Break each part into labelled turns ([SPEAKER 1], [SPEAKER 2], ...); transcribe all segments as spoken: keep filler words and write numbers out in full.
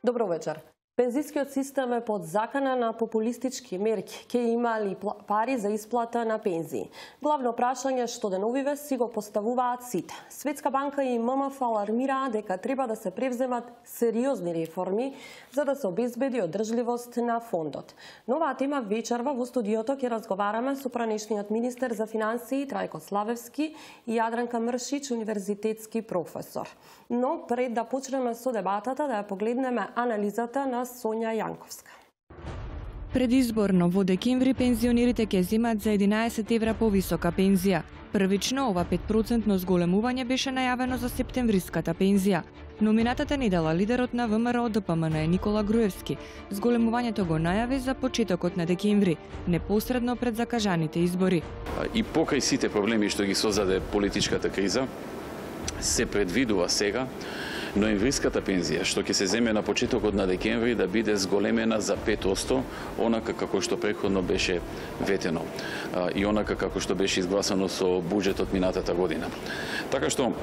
[SPEAKER 1] Добро вечер. Пензискиот систем е под закана на популистички мерки. Ке има ли пари за исплата на пензии? Главно прашање што деновиве си го поставуваат сите. Светска банка и М М Ф алармираа дека треба да се превземат сериозни реформи за да се обезбеди одржливост на фондот. Но оваа тема вечерва во студиото ќе разговараме со пранешниот министер за финансии Трајко Славевски и Јадранка Мршич, универзитетски професор. Но пред да почнеме со дебатата, да ја погледнеме анализата на Сонја Јанковска.
[SPEAKER 2] Предизборно во декември пензионерите ќе земат за единаесет евра повисока пензија. Првично ова пет процентно зголемување беше најавено за септемвриската пензија. Но минатата недела лидерот на В М Р О Д П М Н Никола Груевски зголемувањето го најави за почетокот на декември, непосредно пред закажаните избори.
[SPEAKER 3] И покрај сите проблеми што ги создаде политичката криза, се предвидува сега ноемвриската пензија, што ќе се земе на почетокот на декември, да биде зголемена за пет проценти, онака како што претходно беше ветено и онака како што беше изгласано со буџетот минатата година. Така што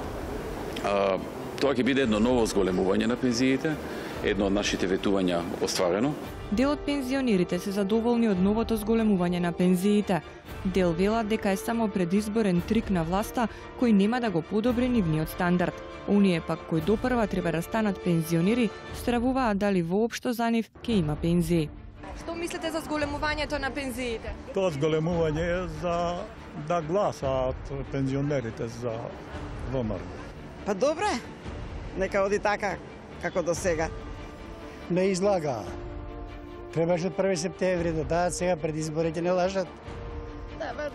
[SPEAKER 3] тоа ќе биде едно ново зголемување на пензиите, едно од нашите ветувања остварено.
[SPEAKER 2] Дел од пензионерите се задоволни од новото зголемување на пензиите. Дел велат дека е само предизборен трик на власта кој нема да го подобри нивниот стандард. Оние пак кои допрва треба да станат пензионери, стравуваат дали воопшто за нив ќе има пензии. Што мислите за зголемувањето на пензиите?
[SPEAKER 4] Тоа зголемување е за да гласаат пензионерите за В М Р.
[SPEAKER 5] Па добре, нека оди така како до сега.
[SPEAKER 6] Не излага. Требаше од први септември да дадат, сега пред изборите не лажат.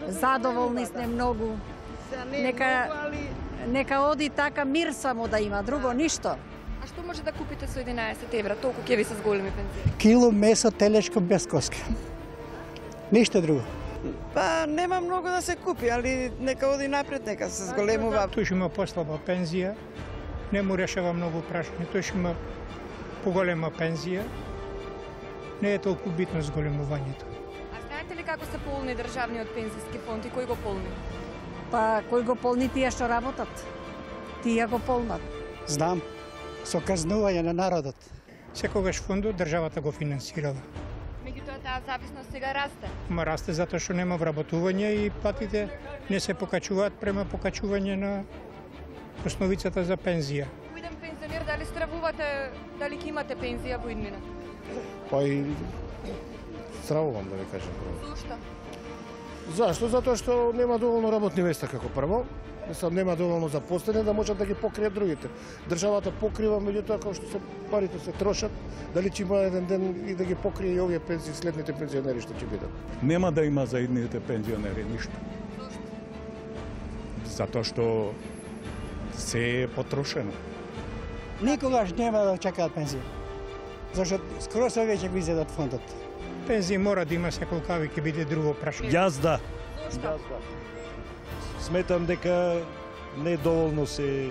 [SPEAKER 7] Задоволни сме многу. Нека, нека оди така, мир само да има, друго ништо.
[SPEAKER 2] А што може да купите со единаесет евра, толку ќе ви се зголеми пензија?
[SPEAKER 6] Кило месо телешко без коска. Ништо друго.
[SPEAKER 5] Па нема многу да се купи, али нека оди напред, нека се зголемува.
[SPEAKER 8] Тој ќе има послаба пензија, не му решава многу прашања, тој ќе има поголема пензија. Не е толку битно зголемувањето.
[SPEAKER 2] А знаете ли како се полни државниот пензиски фонд и кој го полни?
[SPEAKER 7] Па кој го полни, тие што работат. Тие го полнат.
[SPEAKER 6] Знам, со казнување на народот.
[SPEAKER 8] Секогаш фондот државата го финансирала.
[SPEAKER 2] Меѓутоа таа зависност сега расте.
[SPEAKER 8] Ма расте затоа што нема вработување и платите не се покачуваат према покачување на основицата за пензија.
[SPEAKER 2] Во еден пензионер дали стравувате дали ќе имате пензија во иднина?
[SPEAKER 9] Па и стравувам, да ви кажам.
[SPEAKER 2] Зошто?
[SPEAKER 9] Зашто? Затоа што нема доволно работни места како прво. Мислам, нема доволно запослени да можат да ги покријат другите. Државата покрива, меѓутоа како што се парите се трошат, дали ќе има еден ден и да ги покрие и овие пензии, следните пензионери што ќе бидат.
[SPEAKER 4] Нема да има за идните пензионери ништо.
[SPEAKER 2] Зошто?
[SPEAKER 4] Затоа што се е потрошено.
[SPEAKER 6] Никогаш нема да чекаат пензија. Зашто скоро се веќе го изедат фондот.
[SPEAKER 8] Пензија мора да има секолкави, ќе биде друго прашање.
[SPEAKER 10] Јас да.
[SPEAKER 2] Зошто?
[SPEAKER 10] Сметам дека не доволно се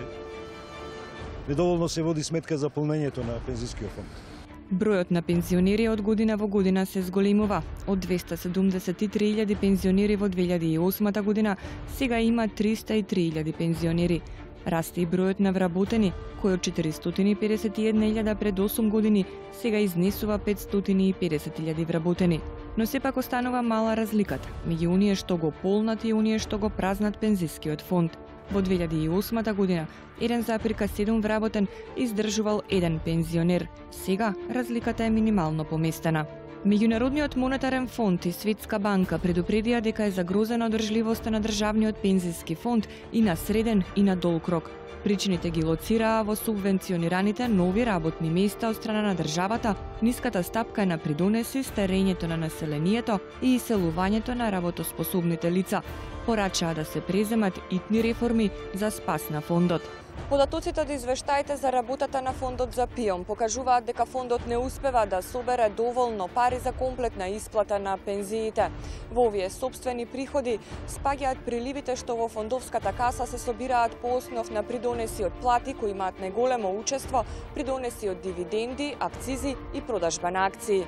[SPEAKER 10] не доволно се води сметка за полнењето на пензискиот фонд.
[SPEAKER 2] Бројот на пензионери од година во година се зголемува. Од двеста седумдесет и три илјади пензионери во две илјади и осма година, сега има триста и три илјади пензионери. Расте и бројот на вработени, кој од четиристотини и педесет и една илјада пред осум години сега изнесува петстотини и педесет илјади вработени. Но сепак останува мала разликата меѓу оние што го полнат и оние што го празнат пензискиот фонд. Во две илјади и осма година еден запирка седум вработен издржувал еден пензионер. Сега разликата е минимално поместена. Меѓународниот монетарен фонд и Светска банка предупредија дека е загрозена одржливоста на државниот пензиски фонд и на среден и на долг рок. Причините ги лоцираа во субвенционираните нови работни места од страна на државата, ниската стапка на придонеси, старењето на населението и иселувањето на работоспособните лица. Порачаа да се преземат итни реформи за спас на фондот. Податоците од извештаите за работата на фондот за ПИОМ покажуваат дека фондот не успева да собере доволно пари за комплетна исплата на пензиите. Во овие сопствени приходи спаѓаат приливите што во фондовската каса се собираат по основ на придонеси од плати кои имаат најголемо учество, придонеси од дивиденди, акцизи и продажба на акции.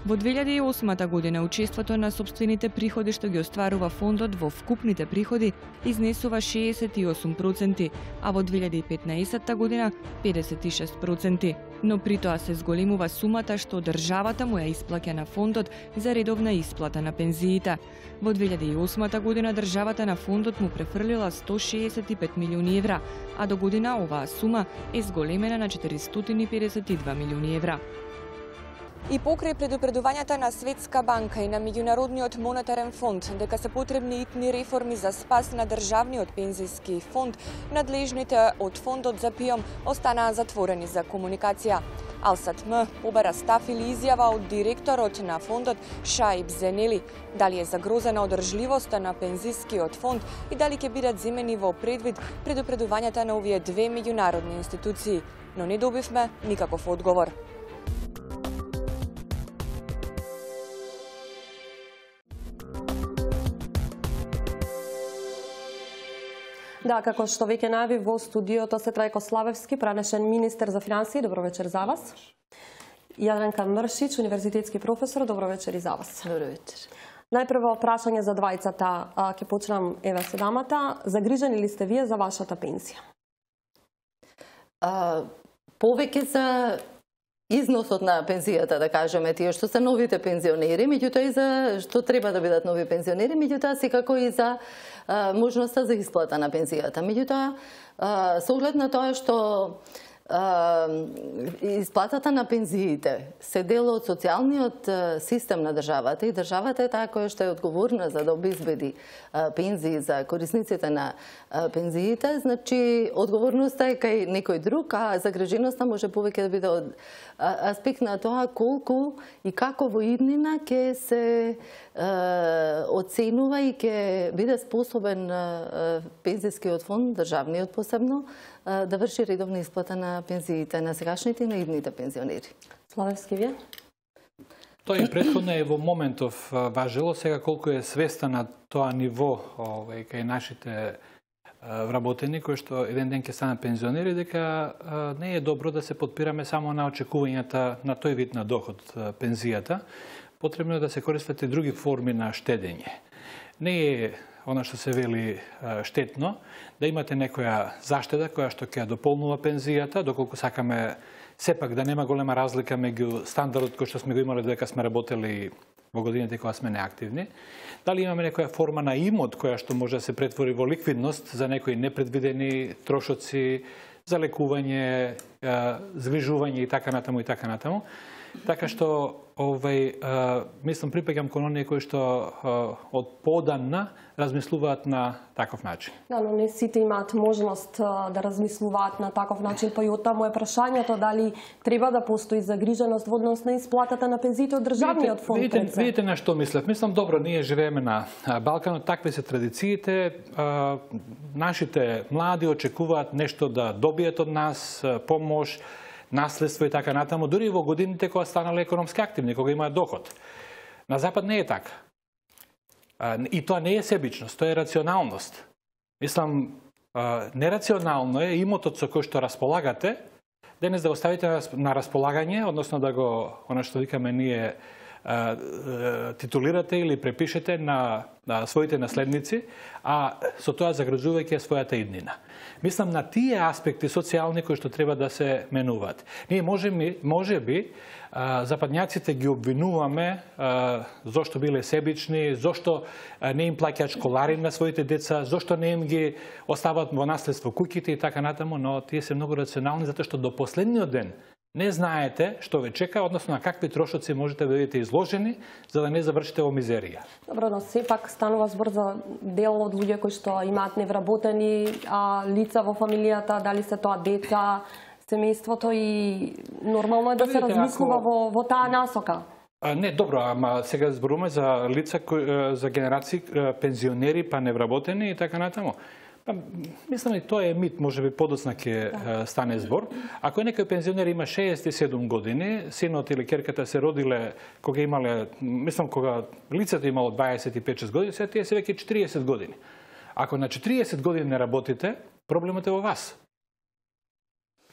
[SPEAKER 2] Во две илјади и осма година учеството на сопствените приходи што ги остварува фондот во вкупните приходи изнесува шеесет и осум проценти, а во две илјади и петнаесетта година педесет и шест проценти. Но при тоа се зголемува сумата што државата му ја исплаќа на фондот за редовна исплата на пензиите. Во две илјади и осма година државата на фондот му префрлила сто шеесет и пет милиони евра, а до година оваа сума е зголемена на четиристотини и педесет и два милиони евра.
[SPEAKER 11] И покрај предупредувањата на Светска банка и на Меѓународниот монетарен фонд дека се потребни итни реформи за спас на државниот пензиски фонд, надлежните од фондот за ПИОМ останаа затворени за комуникација. АЛСАТМ побара став или изјава од директорот на фондот Шаиб Зенели, дали е загрозена одржливоста на пензискиот фонд и дали ќе бидат земени во предвид предупредувањата на овие две меѓународни институции, но не добивме никаков одговор.
[SPEAKER 1] Да, како што веќе најави во студиото се Трајко Славевски, пранешен министер за финансии. Добро вечер за вас. Јадренка Мршич, универзитетски професор. Добро вечер и за вас.
[SPEAKER 12] Добро вечер.
[SPEAKER 1] Најпрво прашање за двајцата, ќе почнам еве се дамата. Загрижени ли сте вие за вашата пензија?
[SPEAKER 12] А, повеќе за износот на пензијата, да кажеме, тие што се новите пензионери, меѓутоа и за што треба да бидат нови пензионери, меѓутоа секако и за а, можноста за исплата на пензијата. Меѓутоа, а, со оглед на тоа што а, исплатата на пензиите се дел од социјалниот систем на државата и државата е таа која што е одговорна за да обезбеди а, пензии за корисниците на а, пензиите, значи одговорноста е кај некој друг, а загриженоста може повеќе да биде од аспект на тоа колку и како во иднина ќе се е, оценува и ќе биде способен е, пензискиот фонд, државниот посебно, е, да врши редовна исплата на пензиите на сегашните и на идните пензионери.
[SPEAKER 1] Славевски, вие?
[SPEAKER 13] Тоа и претходно е во моментов важело, сега колку е свеста на тоа ниво овај кај нашите вработени кои што еден ден ќе станат пензионери, дека не е добро да се подпираме само на очекувањата на тој вид на доход, пензијата. Потребно е да се користат и други форми на штедење. Не е она што се вели штетно да имате некоја заштеда која што ќе дополнува пензијата, доколку сакаме сепак да нема голема разлика меѓу стандардот кој што сме го имале додека сме работели во годините кога сме неактивни. Дали имаме некоја форма на имот која што може да се претвори во ликвидност за некои непредвидени трошоци, за лекување, згрижување и така натаму и така натаму. Така што овај мислам припаѓам кон оние кои што од поодамна размислуваат на таков начин.
[SPEAKER 1] Да, но не сите имаат можност да размислуваат на таков начин, па и оттаму е прашањето дали треба да постои загриженост во однос на исплатата на пензиите од државниот фонд.
[SPEAKER 13] Видите, видите, видите на што мислев. Мислам, добро, ние живееме на Балканот, такви се традициите. Нашите млади очекуваат нешто да добијат од нас, помош, наследство и така натаму, дури во годините кога станале економски активни, кога имаат доход. На Запад не е така. И тоа не е себичност, тоа е рационалност. Мислам, нерационално е имотот со кој што располагате, денес да го ставите на располагање, односно да го, она што викаме ние, титулирате или препишете на, на своите наследници, а со тоа загрозувајќи својата иднина. Мислам на тие аспекти социјални кои што треба да се менуваат. Ние може, може би западњаците ги обвинуваме зошто биле себични, зошто не им плаќаат школари на своите деца, зошто не им ги остават во наследство куќите и така натаму, но тие се многу рационални затоа што до последниот ден не знаете што ве чека, односно на какви трошоци можете да бидете изложени за да не завршите во мизерија.
[SPEAKER 1] Добро, но сепак станува збор за дел од луѓе кои што имаат невработени а, лица во фамилијата, дали се тоа деца, семејството и нормално е да се размислува ако... во, во таа насока.
[SPEAKER 13] А, не, добро, ама сега зборуваме за лица, кои, за генерации пензионери, па невработени и така натаму. Па, мислам и тоа е мит, може би подоцна ќе да. стане збор. Ако некој пензионер има шеесет и седум години, синот или ќерката се родиле кога имале, мислам кога лицето имало дваесет и пет шест години, сега тие се веќе четириесет години. Ако на четириесет години не работите, проблемот е во вас.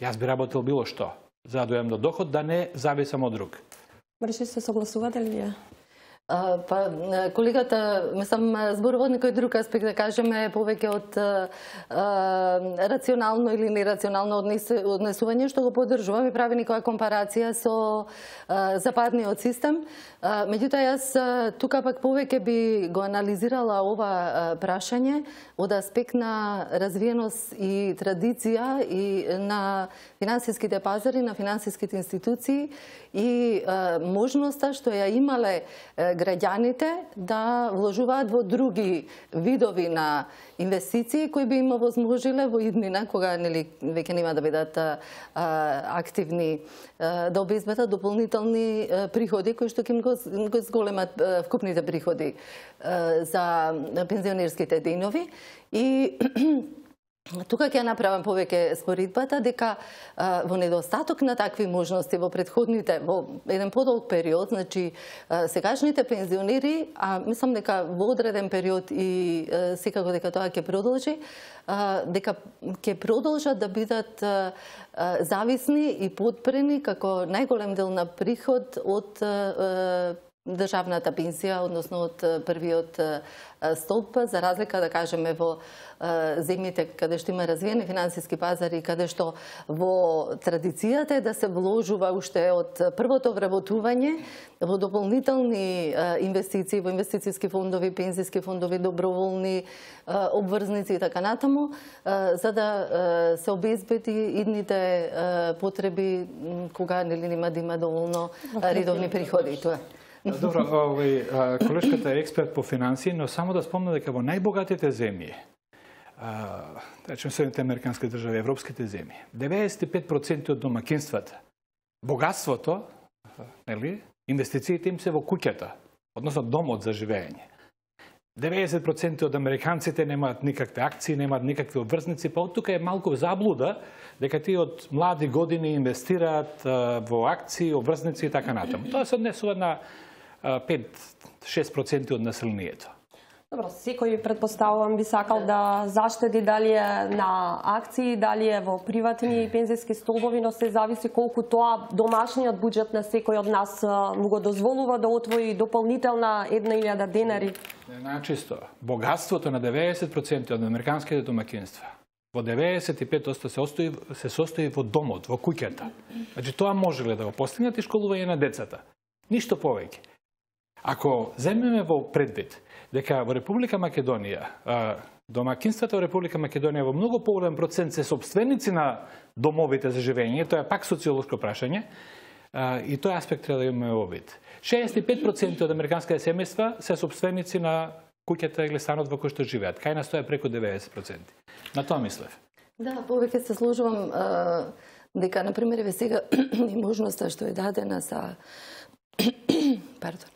[SPEAKER 13] Јас би работел било што, за да дојам до доход, да не зависам од друг.
[SPEAKER 1] Мрши се согласувате ли вие?
[SPEAKER 12] А, па, колегата, мислам, зборува од некој друг аспект, да кажеме, повеќе од а, рационално или нерационално однесување, што го поддржувам и прави некоја компарација со а, западниот систем. А, меѓутоа, јас а, тука пак повеќе би го анализирала ова а, прашање од аспект на развиеност и традиција и на финансиските пазари, на финансиските институции и а, можноста што ја имале граѓаните да вложуваат во други видови на инвестиции кои би им овозможиле во иднина, кога нели веќе нема да бидат а, активни, а, да обезбедат дополнителни а, приходи кои што ќе им го, го зголемат а, вкупните приходи а, за пензионерските денови. И тука ќе направам повеќе споредбата дека а, во недостаток на такви можности во предходните, во еден подолг период, значи а, сегашните пензионери, а мислам дека во одреден период и а, секако дека тоа ќе продолжи, а, дека ќе продолжат да бидат а, а, зависни и подпрени како најголем дел на приход од а, државната пензија, односно од првиот столб, за разлика, да кажеме, во земјите каде што има развиени финансиски пазари, каде што во традицијата е да се вложува уште од првото вработување во дополнителни инвестиции, во инвестициски фондови, пензиски фондови, доброволни обврзници и така натаму, за да се обезбеди идните потреби кога нели нема да има доволно редовни приходи. Тоа.
[SPEAKER 13] Добро, овој колешката е експерт по финансии, но само да спомнам дека во најбогатите земји, да речем Соединените американски држави, европските земји, деветдесет и пет проценти од домакинствата, богатството, нели, инвестициите им се во куќата, односно домот за живење. деветдесет проценти од американците немаат никакви акции, немаат никакви обврзници, па од тука е малку заблуда дека тие од млади години инвестираат во акции, обврзници и така натаму. Тоа се однесува на пет до шест проценти од населението.
[SPEAKER 1] Добро, секој предпоставувам би сакал да заштеди дали е на акции, дали е во приватни пензиски столбови, но се зависи колку тоа домашниот буџет на секој од нас му го дозволува да отвои дополнителна една илјада денари.
[SPEAKER 13] Начисто, богатството на деветдесет проценти од американските домакинства во деветдесет и пет проценти се состои, се состои во домот, во куќата. Значи тоа можеле да го постигнат и школување на децата. Ништо повеќе. Ако земеме во предвид дека во Република Македонија, домакинствата во Република Македонија во многу поголем процент се собственици на домовите за живење, тоа е пак социолошко прашање, и тој аспект треба да имаме во вид. шеесет и пет проценти од американските семејства се собственици на куќата или станот во кој што живеат. Кај нас тоа е преку деветдесет проценти. На тоа мислев.
[SPEAKER 12] Да, повеќе се сложувам а, дека, например, ве сега и можноста што е дадена за пардон,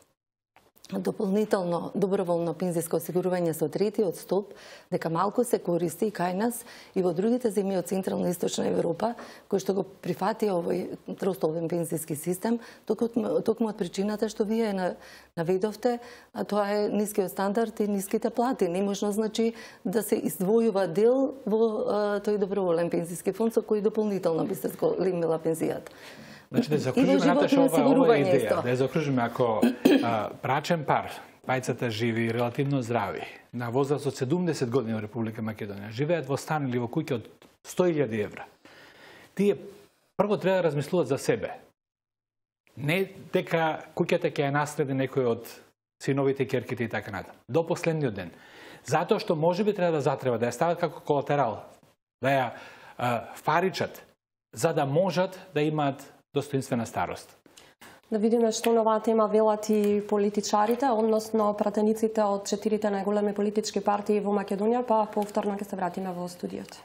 [SPEAKER 12] дополнително доброволно пензиско осигурување со третиот столб, дека малку се користи и кај нас и во другите земји од Централна и Источна Европа, кои што го прифатија овој тростолбен пензиски систем, токму од причината што вие наведовте, а тоа е нискиот стандард и ниските плати. Неможно, значи, да се издвојува дел во а, тој доброволен пензиски фонд со кој дополнително би се зголемила пензијата.
[SPEAKER 13] Значи, да закружиме наташа ова, ова идеја, да ја закружиме ако а, брачен пар, пајцата живи релативно здрави, на возраст од седумдесет години во Република Македонија, живеат во стан или во куќа од сто илјади евра. Тие прво треба да размислуваат за себе. Не дека куќата ќе ја наследи некој од синовите, керките и така натаму. До последниот ден. Затоа што можеби треба да затреба, да ја стават како колатерал, да ја а, фаричат, за да можат да имаат достоинствена старост.
[SPEAKER 1] Да видиме што на оваа тема велат и политичарите, односно пратениците од четирите најголеми политички партии во Македонија, па повторно ќе се вратиме во студиото.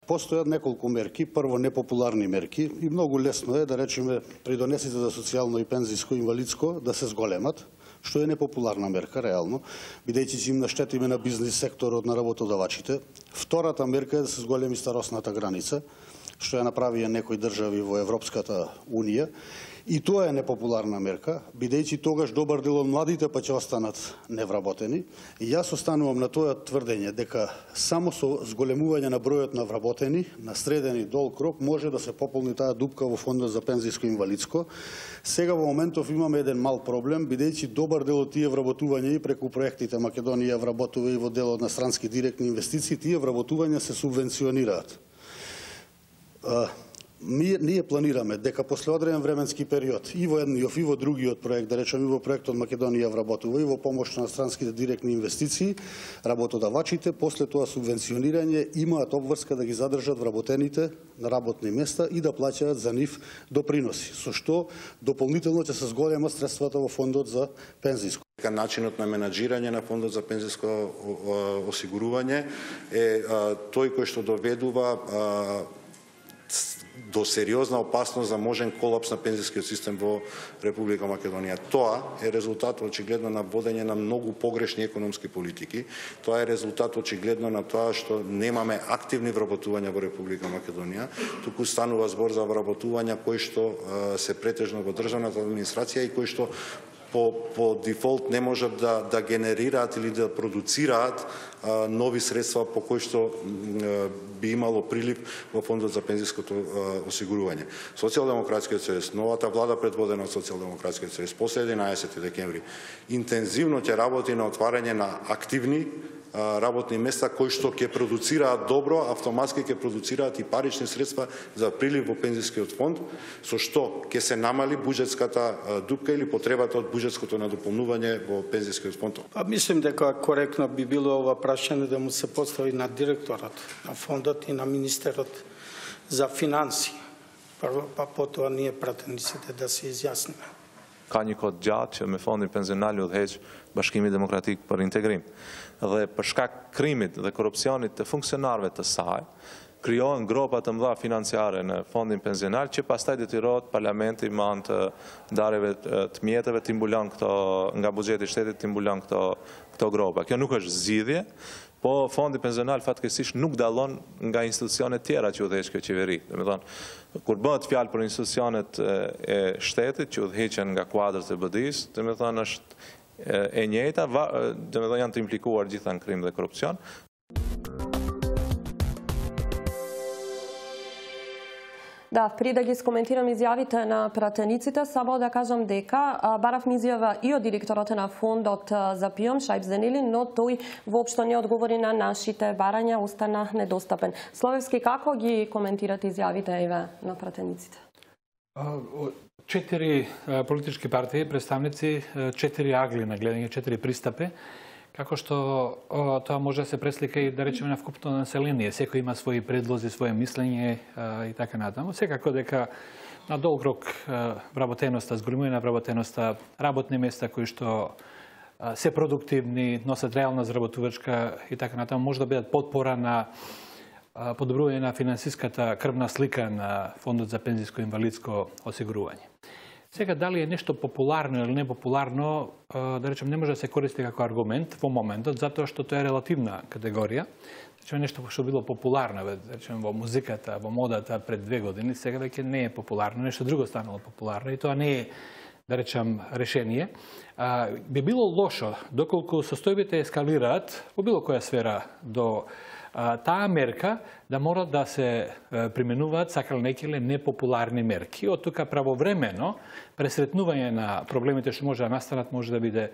[SPEAKER 14] Постојат неколку мерки, прво непопуларни мерки и многу лесно е да речеме придонесите за социјално и пензиско инвалидско да се зголемат, што е непопуларна мерка реално, бидејќи ќе им наштетиме на бизнис секторот, на работодавачите. Втората мерка е да се зголеми старосната граница, што ја направија некои држави во Европската Унија. И тоа е непопуларна мерка, бидејќи тогаш добар дел од младите па ќе останат невработени. И јас останувам на тоа тврдење дека само со зголемување на бројот на вработени, на среден и дол крок, може да се пополни таа дупка во фондот за пензиско инвалидско. Сега во моментов имаме еден мал проблем, бидејќи добар дел од тие вработувања и преку проектите Македонија вработува и во делот на странски директни инвестиции, тие вработувања се субвенционираат. Ние, ние планираме дека после одреден временски период и во едниот и во другиот проект, да речеме и во проектот Македонија вработува и во помош на странските директни инвестиции, работодавачите после тоа субвенционирање имаат обврска да ги задржат вработените на работни места и да плаќаат за нив доприноси, со што дополнително ќе се зголемат средствата во фондот за пензиско.
[SPEAKER 15] Начинот на менаџирање на фондот за пензиско осигурување е тој кој што доведува до сериозна опасност за можен колапс на пензискиот систем во Република Македонија. Тоа е резултат очигледно на водење на многу погрешни економски политики. Тоа е резултат очигледно на тоа што немаме активни вработувања во Република Македонија, туку станува збор за вработувања кои што се претежно во државната администрација и кои што по, по дефолт не можат да, да генерираат или да продуцираат а, нови средства по кои што а, би имало прилив во фондот за пензиското а, осигурување. Социјалдемократскиот сојуз, новата влада предводена од Социјалдемократскиот сојуз, после единаесети декември, интензивно ќе работи на отварање на активни работни места кои што ќе продуцираат добро, автоматски ќе продуцираат и парични средства за прилив во пензискиот фонд, со што ќе се намали буџетската дупка или потребата од буџетското надополнување во пензискиот фонд.
[SPEAKER 16] Па мислим дека коректно би било ова прашање да му се постави на директорот на фондот и на министерот за финансии. Прво, па потоа ние пратениците да се изјасниме.
[SPEAKER 17] Ka një kod gjatë që me fondin pensional udhëheq Bashkimi Demokratik për Integrim. Dhe për shkak krimit dhe korrupsionit të funksionarëve të saj, krijohen gropa të mëdha financiare në fondin pensional që pastaj detyrohet parlamenti me anë të ndarjeve të mjeteve të mbulon këto nga buxheti i shtetit të mbulon këto këto gropa. Kjo nuk është zgjidhje, po fondi pensional fatkeqësisht nuk dallon nga institucionet tjera që udhëheq kjo qeveri. Domethënë, kur bëhet fjalë për institucionet e shtetit që udhëheqen nga kuadrat e B D I-s, domethënë është e njëjta, domethënë janë të implikuar gjithë në krim dhe korrupsion.
[SPEAKER 1] Да, при да ги скоментирам изјавите на пратениците, само да кажам дека баравме изјава и од директорот на фондот за ПИОМ, Шајб Зенели, но тој воопшто не одговори на нашите барања, остана недостапен. Словевски, како ги коментирате изјавите еве на пратениците?
[SPEAKER 13] Четири политички партии, представници, четири агли на гледање, четири пристапи, како што о, тоа може да се преслика и да речеме на вкупно население. Секој има своји предлози, своје мислење а, и така натаму. Секако дека на долг рок вработеноста, зголемување на вработеноста, работни места кои што а, се продуктивни, носат реална заработувачка и така натаму, може да бидат подпора на а, подобрување на финансиската крвна слика на Фондот за пензиско и инвалидско осигурување. Сега, дали е нешто популарно или непопуларно, да речем, не може да се користи како аргумент во моментот, затоа што тоа е релативна категорија. Речем, нешто што било популарно, да речем, во музиката, во модата пред две години, сега веќе не е популарно, нешто друго станало популарно и тоа не е, да речем, решение. А, би било лошо, доколку состојбите ескалираат во било која сфера до а, таа мерка, да мора да се применуваат сакале некиле непопуларни мерки. Од тука правовремено пресретнување на проблемите што може да настанат може да биде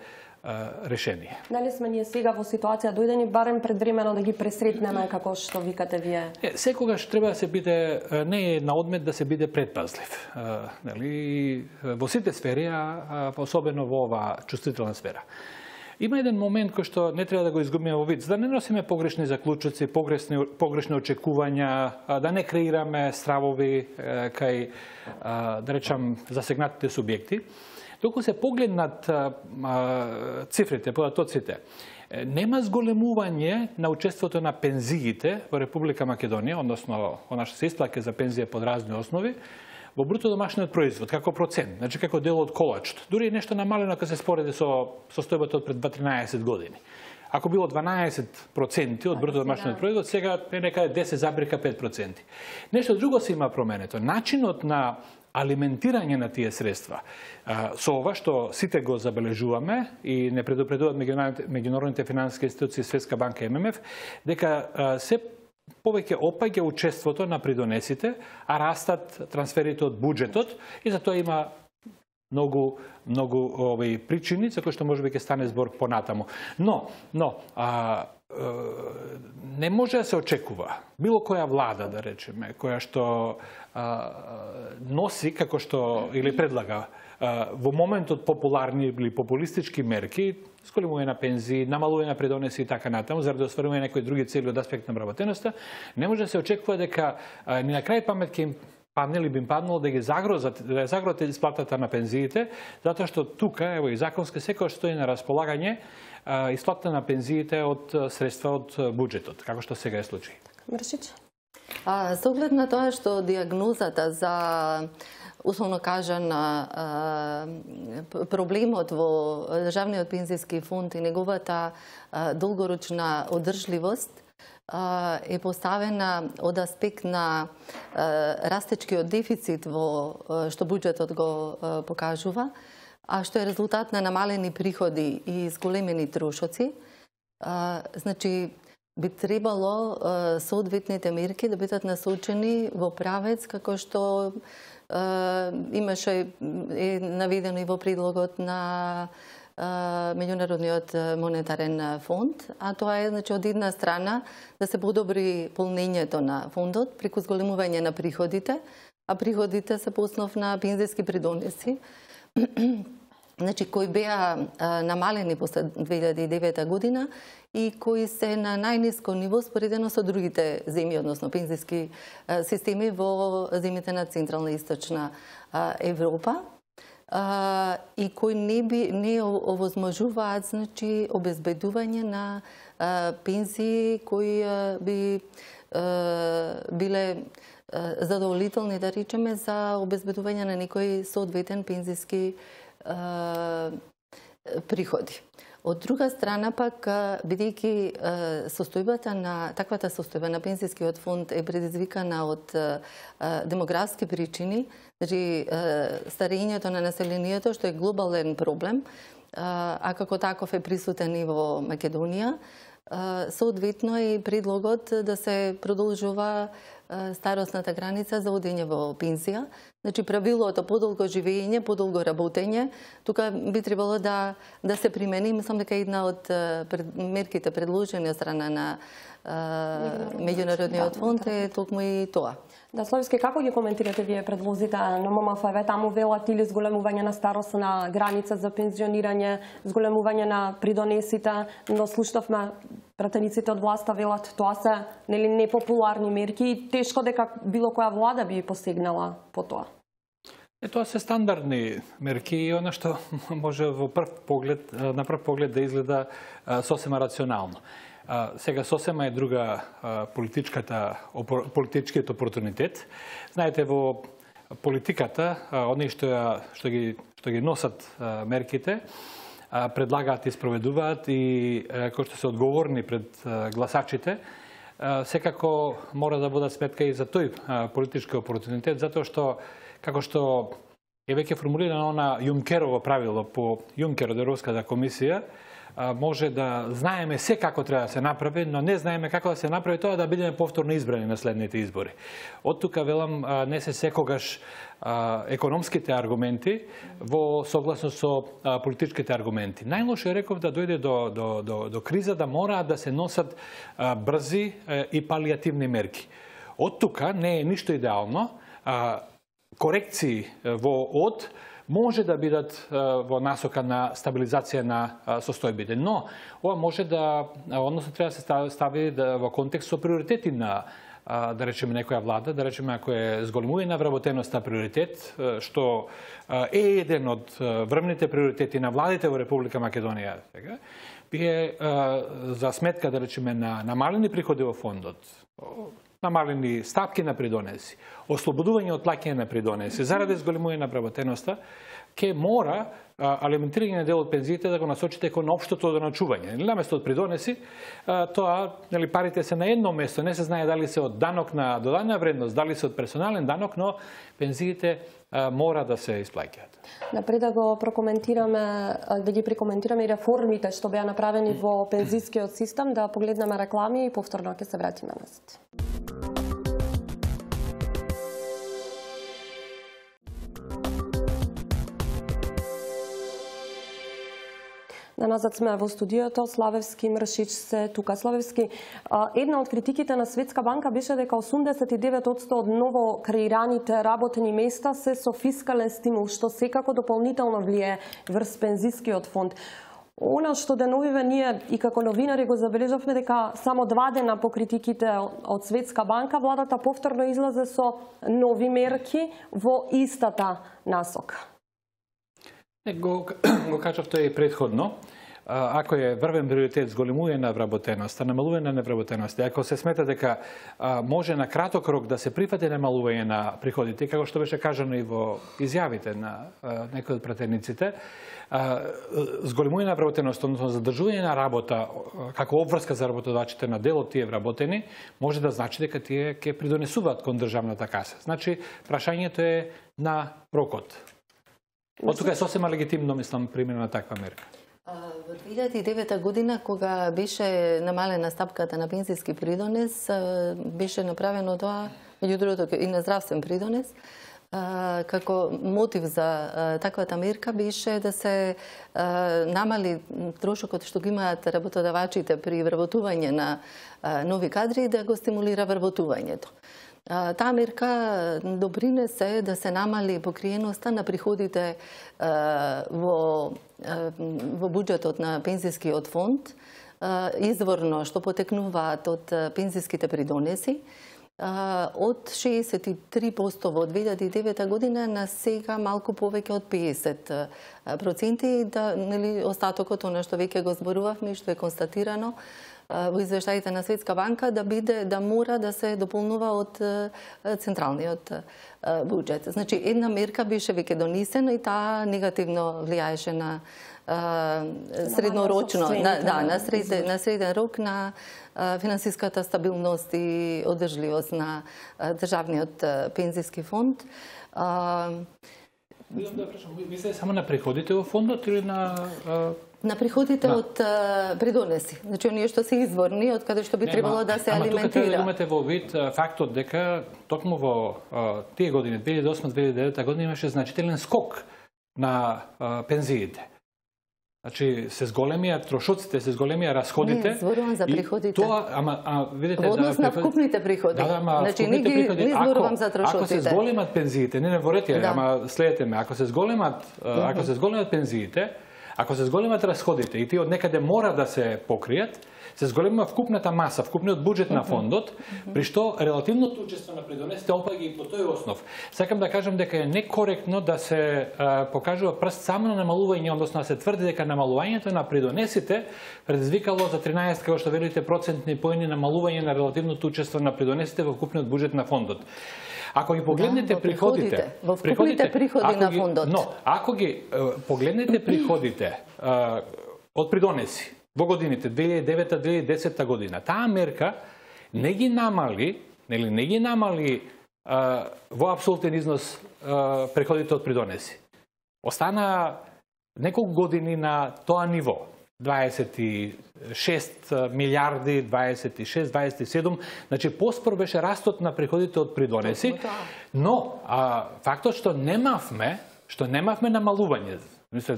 [SPEAKER 13] а, решение.
[SPEAKER 1] Дали сме ние сега во ситуација дојдени барем предвремено да ги пресретнеме како што викате вие?
[SPEAKER 13] Е, секогаш треба да се биде, не е на одмет да се биде предпазлив. А, нели, во сите сфери, а особено во оваа чувствителна сфера. Има еден момент кој што не треба да го изгубиме во вид, за да не носиме погрешни заклучоци, погрешни, погрешни очекувања, да не креираме стравови кај, да речам, засегнатите субјекти. Доколку се погледнат цифрите, податоците, нема зголемување на учеството на пензиите во Република Македонија, односно она што се исплаќа за пензија под разни основи, во бруто домашниот производ, како процент, значи како дел од колачот. Дури нешто намалено кога се спореди со состојбата од пред дваесет до тринаесет години. ако било дванаесет проценти од бруто домашниот производ, сега е некаде десет запирка пет проценти. Нешто друго се има променето. Начинот на алиментирање на тие средства. Со ова што сите го забележуваме и не предупредуваат меѓународните финансиски институции, Светска банка и Ем Ем Еф, дека се повеќе опаѓа учеството на придонесите, а растат трансферите од буџетот и за тоа има многу многу овој причини за кои што можеби ќе стане збор понатаму. Но, но а, не може да се очекува било која влада, да речеме, која што а, носи како што или предлага а, во моментот популарни или популистички мерки, зголемување на пензии, намалување на придонеси и така натаму, заради остварување на некои други цели од аспект на вработеноста, не може да се очекува дека а, ни на крај памет ќе им падне или би им паднало да ги загрозат, да загрозат исплатата на пензиите, затоа што тука, ево и законски секој стои на располагање исплата на пензиите од средства од буџетот, како што сега е случај.
[SPEAKER 1] Мршич?
[SPEAKER 12] А, со оглед на тоа што диагнозата за условно кажан проблемот во државниот пензиски фонд и неговата долгорочна одржливост е поставена од аспект на растечкиот дефицит во што буџетот го покажува, а што е резултат на намалени приходи и зголемени трошоци. Значи, би требало соодветните мерки да бидат насочени во правец како што имаше е наведено и во предлогот на Меѓународниот монетарен фонд, а тоа е, значи, од една страна да се подобри полнењето на фондот преку зголемување на приходите, а приходите се по основ на пензиски придонеси, значи кои беа намалени после две илјади и девета година и кои се на најниско ниво споредено со другите земји, односно пензиски системи во земјите на Централна и Источна Европа. Uh, и кои не би не овозможуваат, значи, обезбедување на uh, пензии кои uh, би uh, биле uh, задоволителни, да речеме, за обезбедување на некои соодветен пензиски uh, приходи. Од друга страна пак, бидејќи состојбата на таквата состојба на пензискиот фонд е предизвикана од демографски причини, значи старењето на населението, што е глобален проблем, а како таков е присутен и во Македонија, соодветно е предлогот да се продолжува старосната граница за одење во пензија. Значи, правилото подолго живење, подолго работење, тука би требало да, да се примени. Мислам дека една од пред, мерките предложени од страна на Меѓународниот фонд е токму и тоа.
[SPEAKER 1] Да, Слависки, како ги коментирате вие предлозите на Ем Ем Еф? Таму велат или зголемување на старосна граница за пензионирање, зголемување на придонесите, но слушнавме пратениците од власта велат тоа се нели непопуларни мерки и тешко дека било која влада би посегнала по тоа.
[SPEAKER 13] Е, тоа се стандардни мерки и она што може во прв поглед, на прв поглед да изгледа сосема рационално. Сега сосема е друга политичката, политичкиот опортунитет. Знаете, во политиката, оние што, што, ги, што ги носат мерките, предлагаат и спроведуваат и кои што се одговорни пред гласачите, секако мора да водат сметка и за тој политички опортунитет, затоа што, како што е веќе формулирано на Јункерово правило по Јункер од Европската комисија, може да знаеме се како треба да се направи, но не знаеме како да се направи тоа да бидеме повторно избрани на следните избори. Од тука велам не се секогаш економските аргументи во согласно со политичките аргументи. Најлошо е, реков, да дојде до, до, до, до криза да мораат да се носат брзи и палиативни мерки. Од тука не е ништо идеално. Корекции во од може да бидат во насока на стабилизација на состојбите, но ова може да, односно треба да се стави во контекст со приоритети на, да речеме, некоја влада, да речеме, ако е зголемување на вработеноста приоритет, што е еден од врвните приоритети на владите во Република Македонија, би е за сметка, да речеме, на намалени приходи во фондот, намалени стапки на придонеси, ослободување од плаќање на придонеси, заради зголемување на вработеноста, ке мора алиментирање на дел од пензиите да го насочите кон општото доначување. Наместо од придонеси, тоа, нели, парите се на едно место, не се знае дали се од данок на додадена вредност, дали се од персонален данок, но пензиите мора да се исплаќаат.
[SPEAKER 1] Напред да го прокоментираме, да ги прекоментираме и реформите што беа направени во пензискиот систем, да погледнеме реклами и повторно ќе се вратиме назад. Назад сме во студиото, Славевски, Мршич се тука. Славевски, една од критиките на Светска банка беше дека осумдесет и девет одсто од ново креираните работени места се со фискален стимул, што секако дополнително влие врз пензискиот фонд. Она што деновиве ние и како новинари го забележавме дека само два дена по критиките од Светска банка, владата повторно излезе со нови мерки во истата насока.
[SPEAKER 13] Го, го кажав тоа и предходно. Ако е врвен приоритет зголемување на вработеноста, намалување на невработеноста, ако се смета дека може на краток рок да се прифати намалување на приходите, како што беше кажано и во изјавите на некои од пратениците, зголемување на вработеноста, односно задржување на работа како обврска за работодавачите на дел од тие вработени, може да значи дека тие ќе придонесуваат кон државната каса. Значи, прашањето е на рокот. Од тука е сосема легитимно, мислам, примена на таква мерка.
[SPEAKER 12] Во две илјади и девета година, кога беше намалена стапката на пензиски придонес, беше направено тоа, меѓу другото и на здравствен придонес, како мотив за таквата мерка беше да се намали трошокот што ги имаат работодавачите при вработување на нови кадри и да го стимулира вработувањето. Таа мерка допринесе да се намали покриеноста на приходите во, во буџетот на пензискиот фонд, изворно што потекнуваат од пензиските придонеси, од шеесет и три проценти во две илјади и девета година на сега малку повеќе од пеесет проценти, да, нели, остатокот, она што веќе го зборувавме и што е констатирано во извештаите на Светска банка, да биде, да мора да се дополнува од централниот буџет. Значи, една мерка беше веќе донесена и таа негативно влијаеше на среднорочно, на, да, на, среден, на среден рок на финансиската стабилност и одржливост на државниот пензиски фонд.
[SPEAKER 13] Мислите само на приходите во фондот или на...
[SPEAKER 12] На приходите да. од придонеси. Значи, оние што се изворни, од каде што би требало да се алиментира.
[SPEAKER 13] Ама тука треба да имате во вид фактот дека токму во тие години, две илјади и осма - две илјади и девета година, имаше значителен скок на пензиите. Значи, се зголемија трошоците, се зголемија расходите.
[SPEAKER 12] Не, зборувам за приходите.
[SPEAKER 13] Тоа, ама, а, видите,
[SPEAKER 12] во однос на вкупните приходи.
[SPEAKER 13] Да, да, ама
[SPEAKER 12] значи,
[SPEAKER 13] вкупните
[SPEAKER 12] не
[SPEAKER 13] приходи,
[SPEAKER 12] не зборувам за
[SPEAKER 13] ако,
[SPEAKER 12] трошоците.
[SPEAKER 13] ако се зголемат пензиите, не не ворете, да. Ама следете ме, ако се зголемат, mm-hmm. ако се зголемат пензиите, ако се зголемат расходите и тие од некаде мора да се покријат, се зголема вкупната маса, вкупниот буџет на фондот, при што релативното учество на придонесите опаѓа и по тој основ. Сакам да кажам дека е некоректно да се а, покажува прст само на намалување, односно да се тврди дека намалувањето на придонесите предизвикало за тринаесет, како што велите, процентни поени намалување на релативното учество на придонесите во вкупниот буџет на фондот. Ако ги погледнете да, приходите,
[SPEAKER 12] во вкупните приходи на фондот.
[SPEAKER 13] Но, ако ги е, погледнете приходите е, од придонеси во годините две илјади и девета - две илјади и десета година, таа мерка не ги намали, нели не ги намали е, во апсолутен износ е, приходите од придонеси. Остана неколку години на тоа ниво. дваесет и шест милиарди, дваесет и шест - дваесет и седум, значи поспор беше растот на приходите од придонеси, но а, фактот што немавме, што немавме намалување, мисле,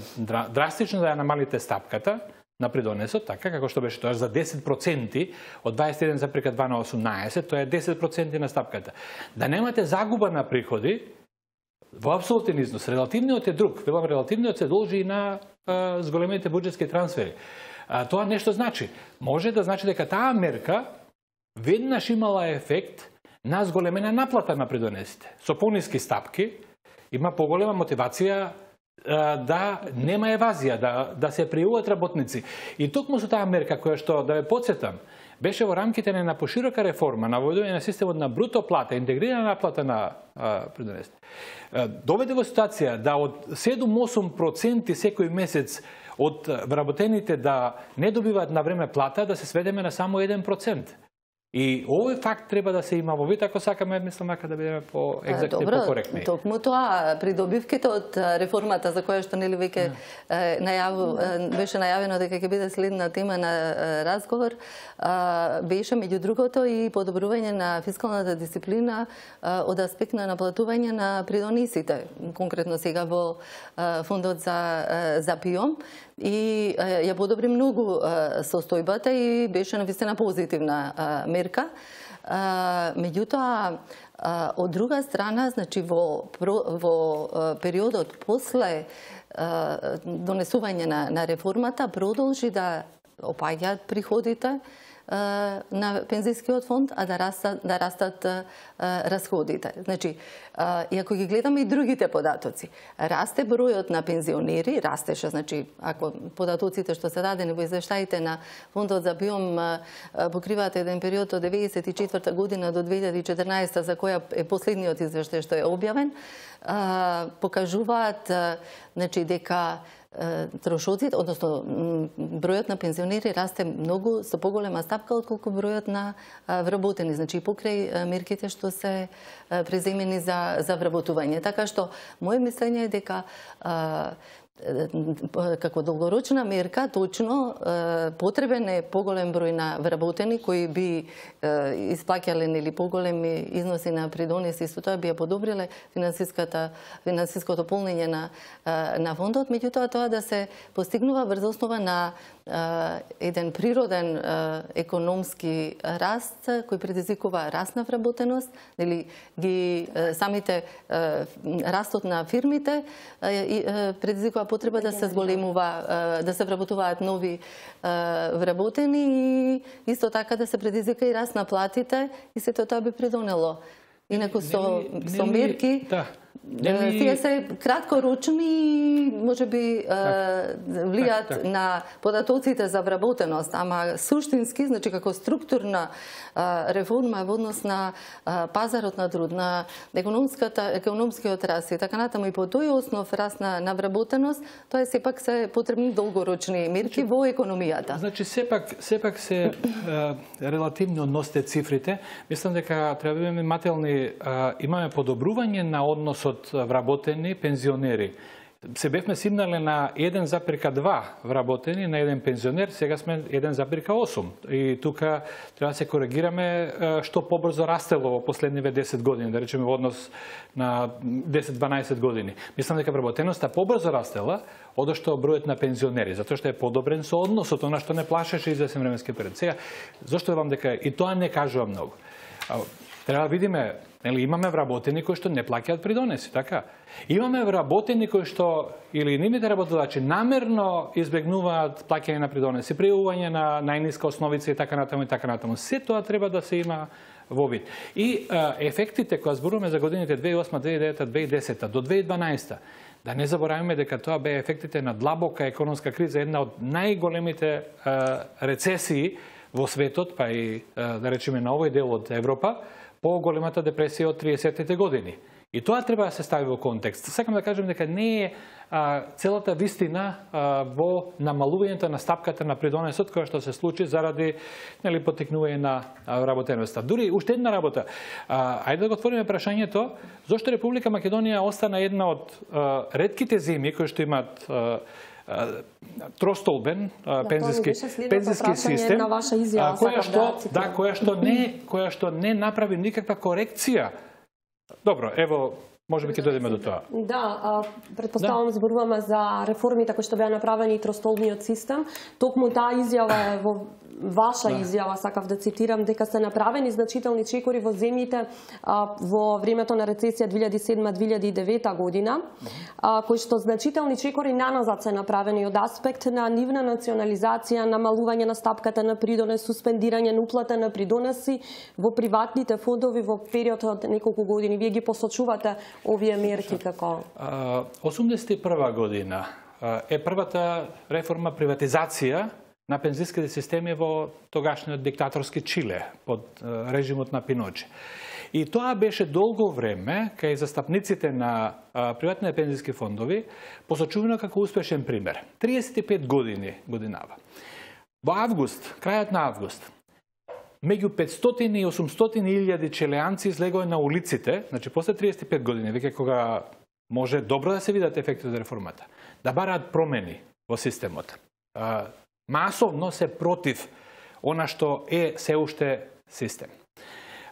[SPEAKER 13] драстично да ја намалите стапката на придонесот, така како што беше тоа за десет проценти од дваесет и еден запирка два на осумнаесет, тоа е десет проценти на стапката. Да немате загуба на приходи во апсолутен износ, релативниот е друг. Велам, релативниот се должи и на а, зголемените буџетски трансфери. А, тоа нешто значи. Може да значи дека таа мерка веднаш имала ефект на зголемена наплата на придонесите. Со пониски стапки има поголема мотивација а, да нема евазија, да, да се пријавуваат работници. И токму со таа мерка која што, да ве потсетам, беше во рамките на поширока реформа на воведување на системот на бруто плата, интегрирана наплата на придонесите. Доведе во ситуација да од седум-осум проценти секој месец од вработените да не добиваат на време плата, да се сведеме на само еден процент. И овој факт треба да се има во вид, ако сакаме, мислам, ака да бидеме по-екзактни и по-коректни.
[SPEAKER 12] Добро, токму тоа, придобивките од реформата, за која што нели веќе најаву, беше најавено дека ќе биде следна тема на разговор, беше меѓу другото и подобрување на фискалната дисциплина од аспект на наплатување на придонесите, конкретно сега во фондот за, за ПИОМ. И ја подобри многу состојбата и беше навистина позитивна мерка. Меѓутоа, од друга страна, значи во, во периодот после донесување на, на реформата продолжи да опаѓаат приходите на пензискиот фонд, а да растат, да растат расходите. Значи, и ако ги гледаме и другите податоци, расте бројот на пензионери, растеше, значи, ако податоците што се дадени во извештаите на фондот за ПИОМ покриваат еден период од деветдесет и четврта година до две илјади и четрнаесета, за која е последниот извештај што е објавен, покажуваат, значи, дека трошоците, односно бројот на пензионери расте многу со поголема стапка отколку бројот на вработени, значи покрај мерките што се преземени за за вработување. Така што моје мислење е дека како долгорочна мерка, точно потребен е поголем број на вработени кои би исплаќале нели поголеми износи на придонеси, исто тоа би ја подобриле финансиската финансиското полнење на на фондот, меѓутоа тоа да се постигнува врз основа на еден природен економски раст кој предизвикува раст на вработеност, нели ги самите растот на фирмите предизвикува потреба да се зголемува, да се вработуваат нови вработени и исто така да се предизвика и раст на платите и сето тоа би придонело. Инаку со, со мерки, да. Нели... тие се краткорочни, може би влијат так, так. на податоците за вработеност, ама суштински, значи како структурна реформа во однос на пазарот на труд, на економската економскиот раст и така натаму и по тој основ раст на, на вработеност, тоа е сепак се потребни долгорочни мерки во економијата.
[SPEAKER 13] Значи сепак сепак се релативно односите цифрите. Мислам дека треба да бидеме мателни, имаме подобрување на односот вработени пензионери. Се бевме симнале на еден запирка два вработени на еден пензионер, сега сме еден запирка осум. И тука треба да се коригираме што побрзо растело во последниве десет години, да речеме во однос на десет-дванаесет години. Мислам дека вработеноста побрзо растела одошто бројот на пензионери, затоа што е подобрен со односот, она што не плашеше извесен временски период. Сега, зошто велам дека и тоа не кажува многу. Треба да видиме, нели имаме вработени кои што не плаќаат придонеси, така? Имаме вработени кои што или нивните работодачи намерно избегнуваат плаќање на придонеси, пријавување на најниска основица и така натаму и така натаму. Се тоа треба да се има во вид. И а, ефектите кога зборуваме за годините две илјади и осма, две илјади и девета, две илјади и десета до две илјади и дванаесета, да не забораваме дека тоа беа ефектите на длабока економска криза, една од најголемите а, рецесии во светот, па и а, да речеме на овој дел од Европа, по големата депресија од триесеттите години. И тоа треба да се стави во контекст. Сакам да кажем дека не е а, целата вистина а, во намалувањето на стапката на придонесот која што се случи заради нели потекнување на вработеноста. Дури уште една работа. А, ајде да го отвориме прашањето зошто Република Македонија остана една од а, ретките земји кои што имаат а, тростолбен да, пензиски пензиски систем
[SPEAKER 1] на ваша изјава,
[SPEAKER 13] која што да која што не која што не направи никаква корекција. Добро, ево можеби ќе дојдеме до тоа.
[SPEAKER 1] Да, претпоставувам да. зборуваме за реформите кои што беа направени и тростолбниот систем. Токму таа изјава е во ваша да. изјава, сакав да цитирам, дека се направени значителни чекори во земјите а, во времето на рецесија две илјади и седма - две илјади и девета година, а, кои што значителни чекори наназад се направени од аспект на нивна национализација, намалување на стапката на придонес, суспендирање на уплата на придонеси во приватните фондови во период од неколку години. Вие ги посочувате овие мерки како?
[SPEAKER 13] осумдесет и прва година е првата реформа приватизација на пензиските системи во тогашниот диктаторски Чиле под режимот на Пиноче. И тоа беше долго време кај застапниците на приватните пензиски фондови посочувано како успешен пример. триесет и пет години годинава. Во август, крајот на август, меѓу петстотини и осумстотини илјади чилеанци излегоа на улиците, значи после триесет и пет години, веќе кога може добро да се видат ефектите од реформата, да бараат промени во системот. Масовно се против она што е се уште систем.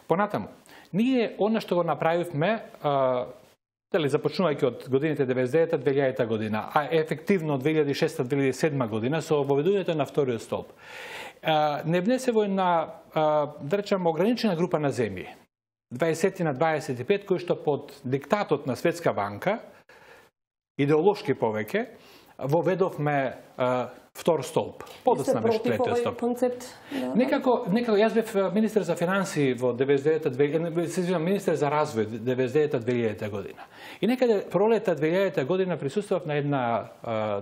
[SPEAKER 13] Понатаму, ние она што го направивме, дали започнувајќи од годините деветдесет и девета до две илјадета година, а ефективно од две илјади и шеста до две илјади и седма година со воведувањето на вториот столб, не внесе во една, да речем, ограничена група на земји, дваесет на дваесет и пет, кои што под диктатот на Светска банка, идеолошки повеќе, воведовме втор столб. Подоцна беше третиот столб.
[SPEAKER 1] Концепт?
[SPEAKER 13] Некако, некако, јас бев министер за финансии во деветдесет и девета, се извинам, министер за развој деветдесет и девета до две илјадета година. И некаде пролета две илјадета година присуствував на една,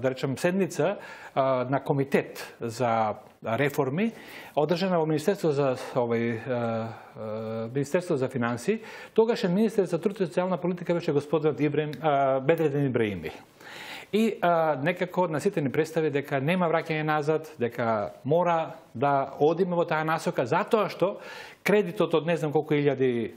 [SPEAKER 13] да речем, седница на комитет за реформи, одржана во Министерство за овој Министерство за финансии. Тогашен министер за труд и социјална политика беше господин Ибрем Бедредин Ибраими. И а, некако на сите ни представи дека нема враќање назад, дека мора да одиме во таа насока, затоа што кредитот од не знам колку илјади,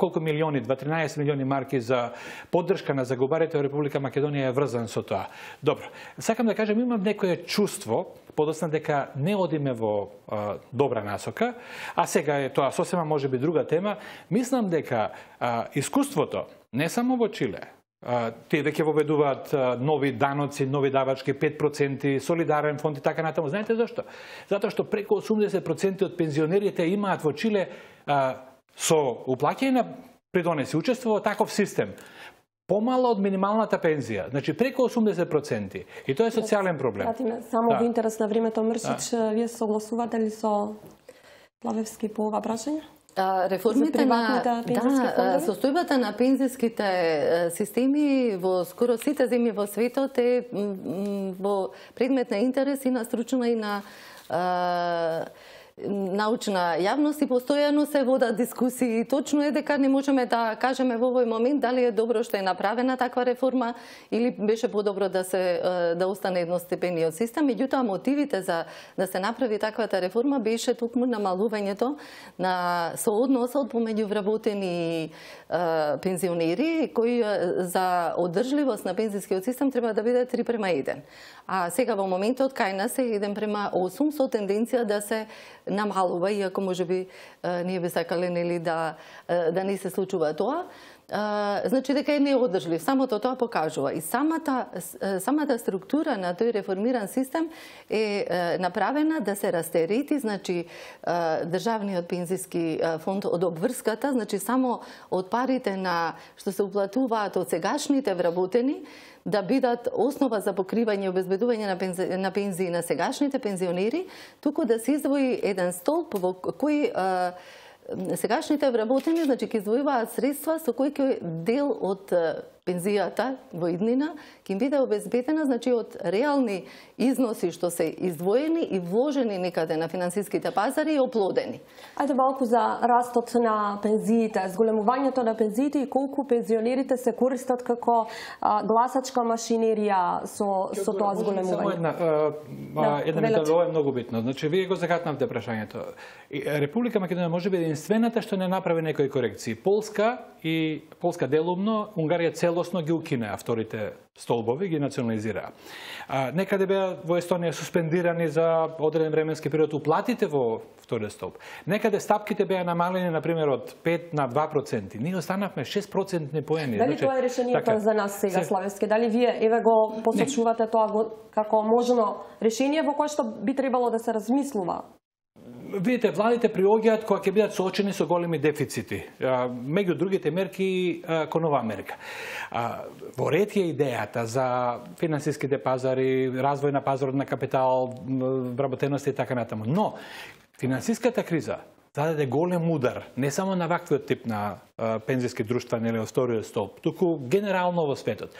[SPEAKER 13] колку милиони, дваесет милиони марки за поддршка на загубарите во Република Македонија е врзан со тоа. Добро, сакам да кажам, имам некое чувство, подоцна дека не одиме во а, добра насока, а сега е тоа сосема може би друга тема. Мислам дека а, искуството, не само во Чиле, тие веќе воведуваат нови даноци, нови давачки, пет проценти, солидарен фонд и така натаму. Знаете зашто? Затоа што преку осумдесет проценти од пензионерите имаат во Чиле а, со уплаќање на придонеси, учество во таков систем, помало од минималната пензија, значи преку осумдесет проценти. И тоа е социјален проблем.
[SPEAKER 1] Само
[SPEAKER 13] да.
[SPEAKER 1] во интерес на времето, Мршич, да. Вие согласувате ли со Плавевски по ова прашање?
[SPEAKER 12] Реформите на да, состојбата на пензиските системи во скоро сите земји во светот е во предмет на интерес и на стручна и на а, научна јавност и постојано се водат дискусии. Точно е дека не можеме да кажеме во овој момент дали е добро што е направена таква реформа или беше подобро да се да остане едностепениот систем. Меѓутоа мотивите за да се направи таквата реформа беше токму намалувањето на соодносот помеѓу вработени и пензионери кои за одржливост на пензискиот систем треба да биде три према еден. А сега во моментот кај нас е еден према осум со тенденција да се намалува, иако може би ние би сакале нели да да не се случува тоа. Значи дека е неодржлив. Самото тоа покажува. И самата самата структура на тој реформиран систем е направена да се растерети, значи државниот пензиски фонд од обврската, значи само од парите на што се уплатуваат од сегашните вработени да бидат основа за покривање и обезбедување на, пензи, на пензии на сегашните пензионери, туку да се издвои еден столб во кој а, сегашните вработени, значи ќе издвојуваат средства со кои ќе дел од пензијата во иднина ќе им биде обезбедена, значи од реални износи што се издвоени и вложени некаде на финансиските пазари и оплодени.
[SPEAKER 1] Ајде малку за растот на пензиите, зголемувањето на пензиите и колку пензионерите се користат како а, гласачка машинерија со, со тоа зголемување.
[SPEAKER 13] Само една, а, една мисла, ова е многу битно. Значи, вие го загатнавте прашањето. Република Македонија може би единствената што не направи некои корекции. Полска и Полска делумно, Унгарија целосно ги укинеа вторите столбови, ги национализираа. А, некаде беа во Естонија суспендирани за одреден временски период уплатите во вториот столб. Некаде стапките беа намалени, например, од пет на два проценти. Ние останавме шест процентни поени.
[SPEAKER 1] Дали значи, тоа е решението така, за нас сега, се... Славевски? Дали вие еве го посочувате не. Тоа го, како можно решение во кое што би требало да се размислува?
[SPEAKER 13] Видите, владите приоѓаат кога ќе бидат соочени со големи дефицити. Меѓу другите мерки, кон оваа мерка. Во ред е идејата за финансиските пазари, развој на пазарот на капитал, вработеност и така натаму. Но, финансиската криза зададе голем удар, не само на ваквиот тип на а, пензиски друштва, нели, од вториот столб, туку генерално во светот.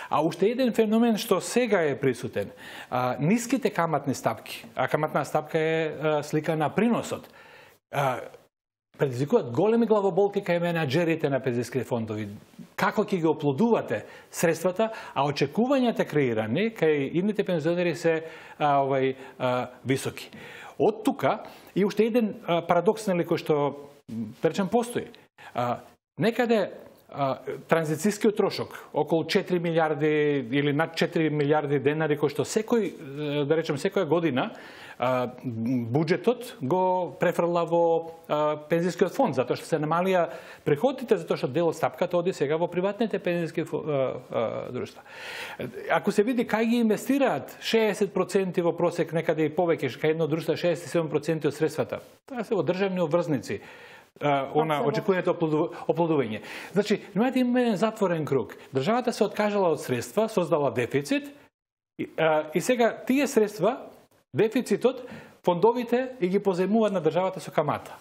[SPEAKER 13] А уште еден феномен што сега е присутен, а, ниските каматни стапки, а каматна стапка е а, слика на приносот, а, предизвикуваат големи главоболки кај менаџерите на пензиските фондови. Како ќе ги оплодувате средствата, а очекувањата креирани кај идните пензионери се а, овај, а, високи. Од тука и уште еден а, парадокс, нели, кој што, да речем, постои. А, некаде а, транзицијскиот трошок, околу четири милиарди или над четири милиарди денари, кој што секој, да речем, секоја година а, буџетот го префрла во а, пензискиот фонд, затоа што се намалија приходите, затоа што дел од стапката оди сега во приватните пензиски друштва. Ако се види кај ги инвестираат шеесет проценти во просек, некаде и повеќе, кај едно друштво шеесет и седум проценти од средствата, тоа се во државни обврзници, она очекувањето оплодување. Значи, немате има еден затворен круг. Државата се откажала од средства, создала дефицит и, а, и сега тие средства, дефицитот, фондовите и ги позајмуваат на државата со камата.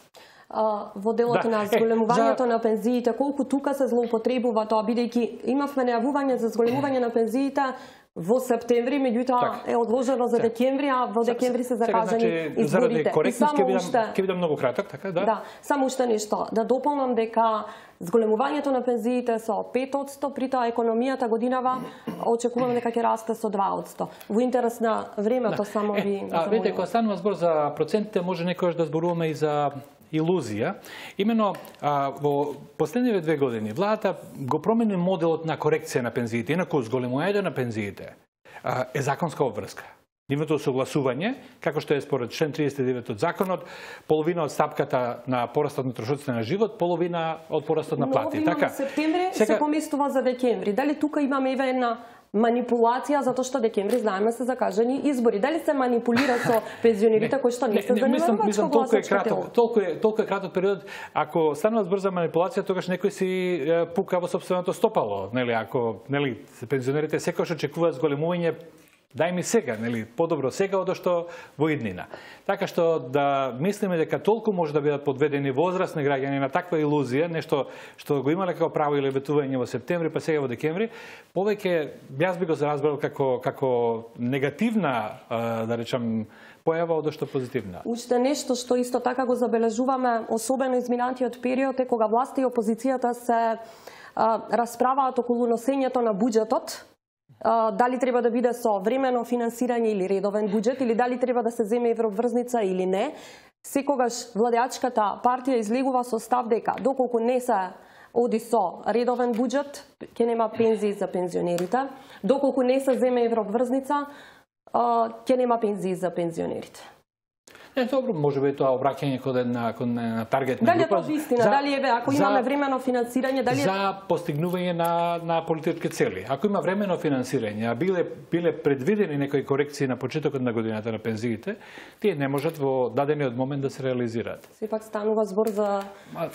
[SPEAKER 1] А, во делот
[SPEAKER 13] Да,
[SPEAKER 1] на
[SPEAKER 13] е,
[SPEAKER 1] зголемувањето
[SPEAKER 13] за-
[SPEAKER 1] на пензиите, колку тука се злоупотребува тоа, бидејќи имавме најавување за зголемување на пензиите во септември, меѓутоа
[SPEAKER 13] Така.
[SPEAKER 1] е одложено за
[SPEAKER 13] Сега.
[SPEAKER 1] декември, а во декември се закажани
[SPEAKER 13] значи, заради
[SPEAKER 1] изборите. И
[SPEAKER 13] коректност ќе
[SPEAKER 1] само
[SPEAKER 13] бидам,
[SPEAKER 1] уште,
[SPEAKER 13] ќе бидам многу краток, така, да?
[SPEAKER 1] да, само уште нешто, да дополнам дека зголемувањето на пензиите со пет одсто, при тоа економијата годинава очекуваме дека ќе расте со два одсто. Во интерес на времето само ви
[SPEAKER 13] Е, а, видите, кога станува збор за процентите, може некојаш да зборуваме и за илузија. Имено, а, во последниве две години, владата го промени моделот на корекција на пензиите. Инаку, зголемувањето на пензиите а, е законска обврска. Нивното согласување, како што е според член триесет и девет од законот, половина од стапката на порастот на трошоците на живот, половина од порастот на плати.
[SPEAKER 1] Но
[SPEAKER 13] Така,
[SPEAKER 1] септември
[SPEAKER 13] сега-
[SPEAKER 1] се поместува за декември. Дали тука имаме еве една манипулација затоа што декември знаеме се закажани избори? Дали се манипулира со пензионерите кои што не се
[SPEAKER 13] мислам,
[SPEAKER 1] занимаваат
[SPEAKER 13] мислам
[SPEAKER 1] со
[SPEAKER 13] толку е
[SPEAKER 1] гласачко тело?
[SPEAKER 13] краток, толку е толку е краток период. Ако станува збор за манипулација, тогаш некој си е, пука во сопственото стопало, нели, ако, нели, пензионерите секогаш очекуваат зголемување, дај ми сега, нели, подобро сега од што во иднина. Така што да мислиме дека толку може да бидат подведени возрастни граѓани на таква илузија, нешто што го имале како право или ветување во септември, па сега во декември, повеќе јас би го разбрал како како негативна, а, да речам, појава од што позитивна.
[SPEAKER 1] Уште нешто што исто така го забележуваме, особено изминатиот период, е кога власта и опозицијата се а, расправаат околу носењето на буџетот, а, дали треба да биде со времено финансирање или редовен буџет, или дали треба да се земе еврообврзница или не. Секогаш владеачката партија излегува со став дека доколку не се оди со редовен буџет, ќе нема пензии за пензионерите, доколку не се земе еврообврзница, а, ќе нема пензии за пензионерите.
[SPEAKER 13] Е, добро, може би тоа обраќање кон една, кон една таргетна
[SPEAKER 1] Дали е
[SPEAKER 13] група.
[SPEAKER 1] тоа вистина?
[SPEAKER 13] за-
[SPEAKER 1] Дали еве ако
[SPEAKER 13] за-
[SPEAKER 1] имаме времено финансирање, дали е...
[SPEAKER 13] за постигнување на на политички цели. Ако има времено финансирање, а биле биле предвидени некои корекции на почетокот на годината на пензиите, тие не можат во дадениот момент да се реализираат.
[SPEAKER 1] Сепак станува збор за
[SPEAKER 13] А,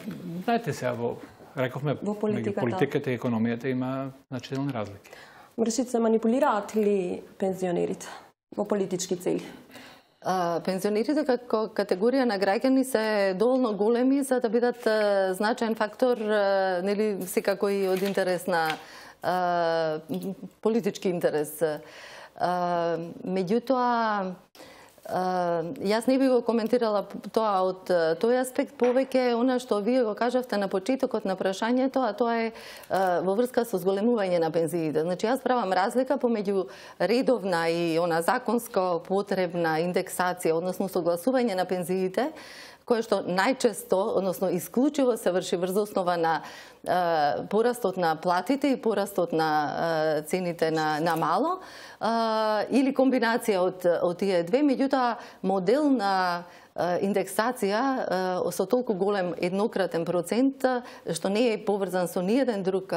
[SPEAKER 13] знаете сега, во рековме,
[SPEAKER 1] Во политиката.
[SPEAKER 13] меѓу политиката и економијата има значителни разлики.
[SPEAKER 1] мршит се манипулираат ли пензионерите во политички цели?
[SPEAKER 12] А, пензионерите како категорија на граѓани се доволно големи за да бидат а, значаен фактор, а, нели секако и од интерес на а, политички интерес. А, меѓутоа, а, јас не би го коментирала тоа од а, тој аспект, повеќе она што вие го кажавте на почетокот на прашањето, а тоа е а, во врска со зголемување на пензиите. Значи, јас правам разлика помеѓу редовна и она законско потребна индексација, односно согласување на пензиите, кое што најчесто, односно исклучиво се врши врз основа на е, порастот на платите и порастот на е, цените на, на мало, е, или комбинација од, од тие две, меѓутоа модел на индексација со толку голем еднократен процент, што не е поврзан со ниеден друг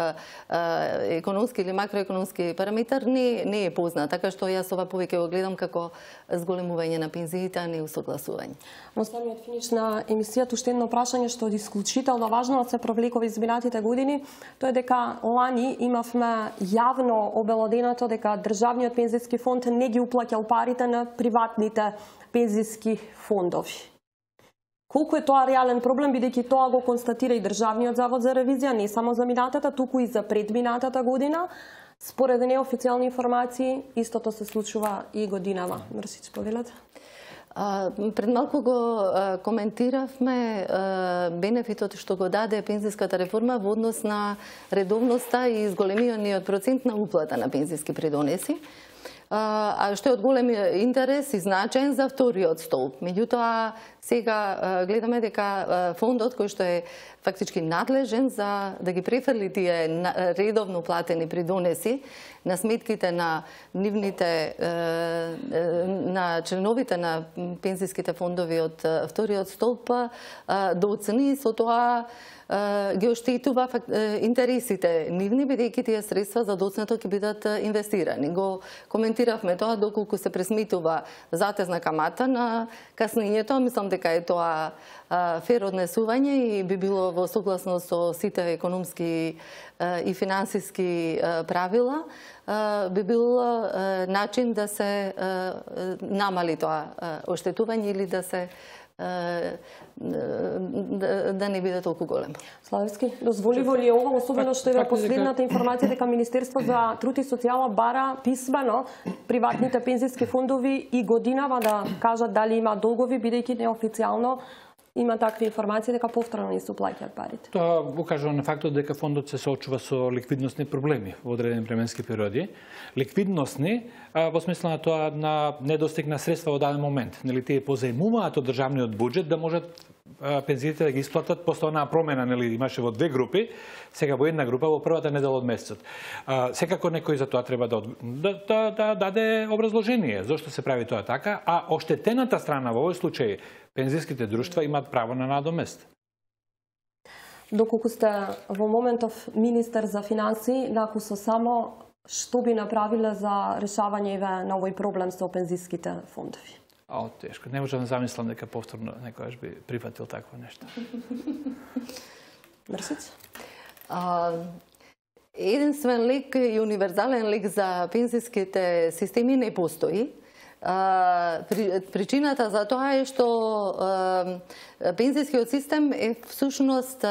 [SPEAKER 12] економски или макроекономски параметар, не, не е познат. Така што јас ова повеќе го гледам како зголемување на пензиите, а не усогласување.
[SPEAKER 1] Во самиот финиш на емисијата уште едно прашање што е исклучително важно да се провлекува изминатите години, тоа е дека лани имавме јавно обелоденато дека државниот пензиски фонд не ги уплаќал парите на приватните пензиски фондови. Колку е тоа реален проблем, бидејќи тоа го констатира и Државниот завод за ревизија, не само за минатата, туку и за предминатата година. Според неофицијални информации, истото се случува и годинава. Мрсич, повелете.
[SPEAKER 12] Пред малку го коментиравме бенефитот што го даде пензиската реформа во однос на редовноста и изголемиот процент на уплата на пензиски придонеси, а што е од голем интерес и значаен за вториот столб. Меѓутоа, сега гледаме дека фондот кој што е фактички надлежен за да ги префрли тие редовно платени придонеси на сметките на нивните на членовите на пензиските фондови од вториот столб, да оцени со тоа ги оштетува интересите нивни, бидејќи тие средства за доцнато ќе бидат инвестирани. Го коментиравме тоа доколку се пресметува затезна камата на каснењето. Мислам дека е тоа фер однесување и би било во согласност со сите економски и финансиски правила, би бил начин да се намали тоа оштетување или да се да не биде толку голем.
[SPEAKER 1] Славевски, дозволиво ли е ова, особено што е во последната информација дека Министерство за труд и социјала бара писмено приватните пензиски фондови и годинава да кажат дали има долгови, бидејќи неофицијално има такви информации дека повторно не се уплаќаат парите.
[SPEAKER 13] Тоа укажува на фактот дека фондот се соочува со ликвидносни проблеми во одредени временски периоди. Ликвидносни во смисла на тоа на недостиг на средства во даден момент. Нели тие позаемуваат од државниот буџет да можат пензиите да ги исплатат после онаа промена, нели имаше во две групи, сега во една група во првата недела од месецот. Секако некој за тоа треба да, да, да, да даде образложение зошто се прави тоа така, а оштетената страна во овој случај пензиските друштва имаат право на надомест.
[SPEAKER 1] Доколку сте во моментов министер за финансии, ако со само што би направиле за решавање на овој проблем со пензиските фондови?
[SPEAKER 13] А, тешко. Не можам да замислам дека повторно некојаш би прифатил такво нешто.
[SPEAKER 1] Мрсиц?
[SPEAKER 12] Единствен лек и универзален лек за пензиските системи не постои. Причината за тоа е што пензискиот систем е всушност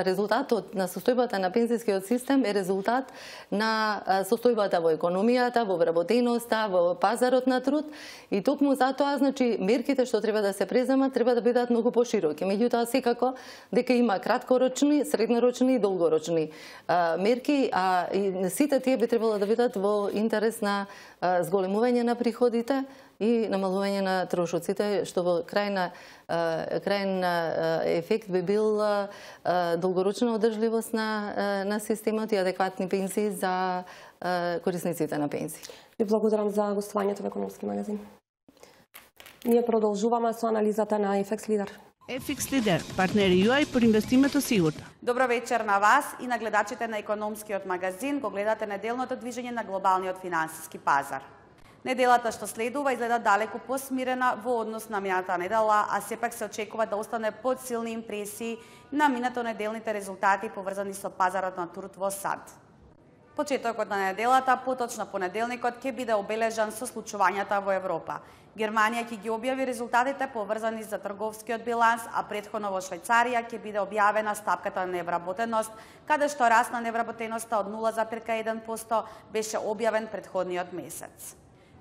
[SPEAKER 12] резултатот на состојбата на пензискиот систем е резултат на состојбата во економијата, во вработеноста, во пазарот на труд и токму затоа, значи, мерките што треба да се преземат треба да бидат многу пошироки. Меѓутоа, секако дека има краткорочни, среднорочни и долгорочни мерки, а и сите тие би требало да бидат во интерес на зголемување на приходите и намалување на трошоците, што во крајна крајен ефект би бил долгорочна одржливост на на системот и адекватни пензии за корисниците на пензии.
[SPEAKER 1] Ви благодарам за гостувањето во Економски магазин. Ние продолжуваме со анализата на еф екс Лидер.
[SPEAKER 18] еф екс Лидер, партнери ю ай по инвестимето сигурно.
[SPEAKER 19] Добро вечер на вас и на гледачите на Економскиот магазин. Го гледате неделното движење на глобалниот финансиски пазар. Неделата што следува изгледа далеку посмирена во однос на минатата недела, а сепак се очекува да остане под силни импресии на минато неделните резултати поврзани со пазарот на труд во САД. Почетокот на неделата, поточно понеделникот, ќе биде обележан со случувањата во Европа. Германија ќе ги објави резултатите поврзани за трговскиот биланс, а претходно во Швајцарија ќе биде објавена стапката на невработеност, каде што раст на невработеноста од нула зарез еден проценти беше објавен претходниот месец.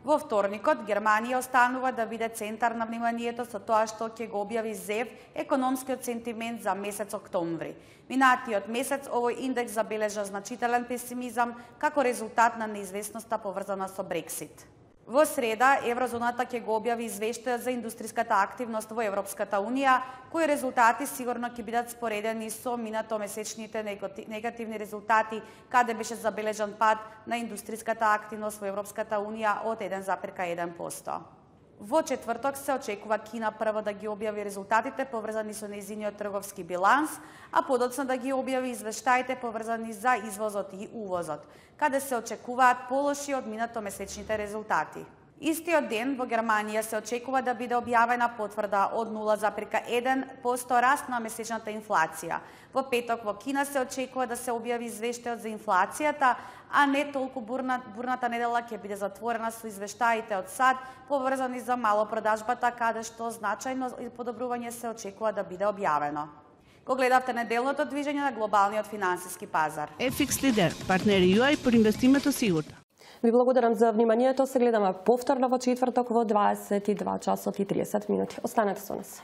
[SPEAKER 19] Во вторникот, Германија останува да биде центар на вниманието со тоа што ќе го објави ЗЕВ, економскиот сентимент за месец октомври. Минатиот месец овој индекс забележа значителен песимизам како резултат на неизвестноста поврзана со Брексит. Во среда, Еврозоната ќе го објави извештај за индустријската активност во Европската Унија, кои резултати сигурно ќе бидат споредени со минатомесечните негативни резултати, каде беше забележан пад на индустријската активност во Европската Унија од еден зарез еден проценти. Во четврток се очекува Кина прво да ги објави резултатите поврзани со нејзиниот трговски биланс, а подоцна да ги објави извештаите поврзани за извозот и увозот, каде се очекуваат полоши од минатомесечните резултати. Истиот ден во Германија се очекува да биде објавена потврда од нула запирка еден проценти раст на месечната инфлација. Во петок во Кина се очекува да се објави извештајот за инфлацијата, а не толку бурна, бурната недела ќе биде затворена со извештаите од САД поврзани за малопродажбата, каде што значајно подобрување се очекува да биде објавено. Го гледавте неделното движење на глобалниот финансиски пазар.
[SPEAKER 18] Еф Икс Лидер, партнери Ју Ај по инвестимето сигурно.
[SPEAKER 1] Ви благодарам за вниманието. Се гледаме повторно во четврток во дваесет и два часот и триесет минути. Останете со нас.